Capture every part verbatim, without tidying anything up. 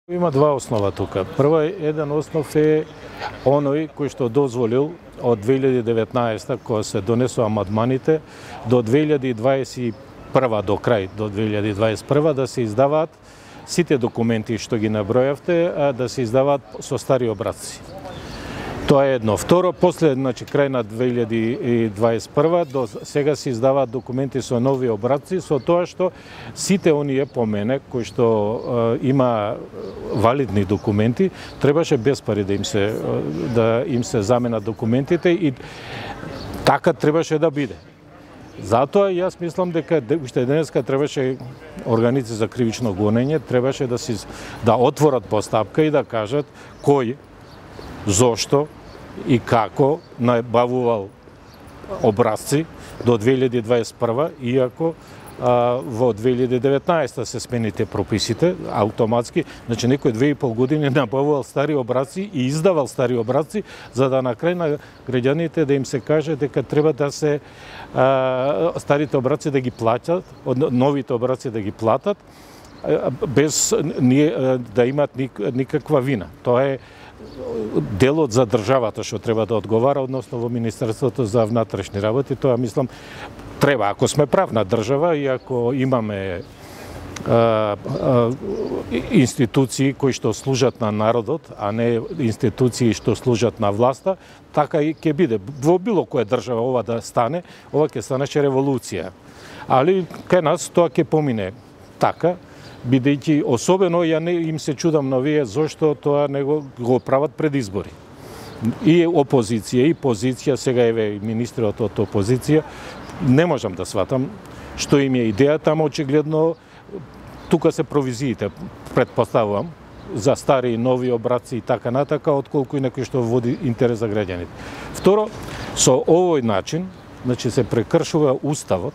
Има два основа тука. Прво, еден основ е оној кој што дозволил од две илјади и деветнаесета, кога се донесува амандманите, до две илјади и дваесет и прва до крај, до две илјади и дваесет и прва, да се издаваат сите документи што ги набројавте, да се издаваат со стари образци. Тоа е едно. Второ, после, значи, крај на две илјади и дваесет и прва, до сега се издаваат документи со нови образци, со тоа што сите оние по мене, кои што е, има валидни документи, требаше без пари да им се, да им се заменат документите и така требаше да биде. Затоа јас мислам дека уште денеска требаше органите за кривично гонење требаше да си да отворат постапка и да кажат кој, зошто и како набавувал образци до две илјади и дваесет и прва, иако а, во две илјади и деветнаесета се смените прописите автоматски, значи некој две и пол години набавувал стари образци и издавал стари образци, за да на крај на граѓаните да им се каже дека треба да се а, старите образци да ги платат, новите образци да ги платат, без да имат никаква вина. Тоа е делот за државата што треба да одговара, односно во Министерството за внатрешни работи. Тоа мислам треба, ако сме правна држава и ако имаме а, а, институции кои што служат на народот, а не институции што служат на власта, така и ќе биде. Во било која држава ова да стане, ова ќе станеше револуција. Али кај нас тоа ќе помине така, бидејќи особено ја не им се чудам на вие зошто тоа не го, го прават пред избори. И опозиција и позиција, сега еве министрот од опозиција, не можам да сватам што им е идејата, ама очигледно тука се провизиите, претпоставувам, за стари и нови образци и така натака, отколку и некој што води интерес за граѓаните. Второ, со овој начин, значи се прекршува уставот,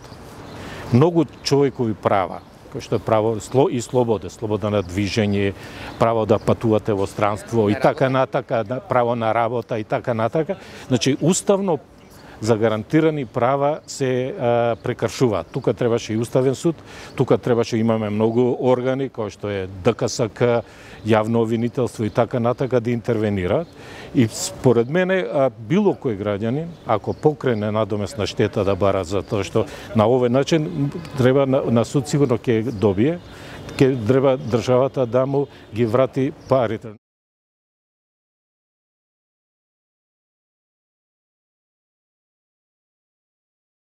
многу човекови права, кој што е право и слобода, слобода на движење, право да патувате во странство и така натака, право на работа и така натака. Значи, уставно загарантирани права се а, прекршуваат. Тука требаше и уставен суд, тука требаше имаме многу органи, кои што е ДКСК, јавно обвинителство и така натака да интервенираат. И според мене, а, било кој граѓанин, ако покрене надомесна штета да бара за тоа што на овој начин треба на, на суд сигурно ќе добие, ќе треба државата да му ги врати парите.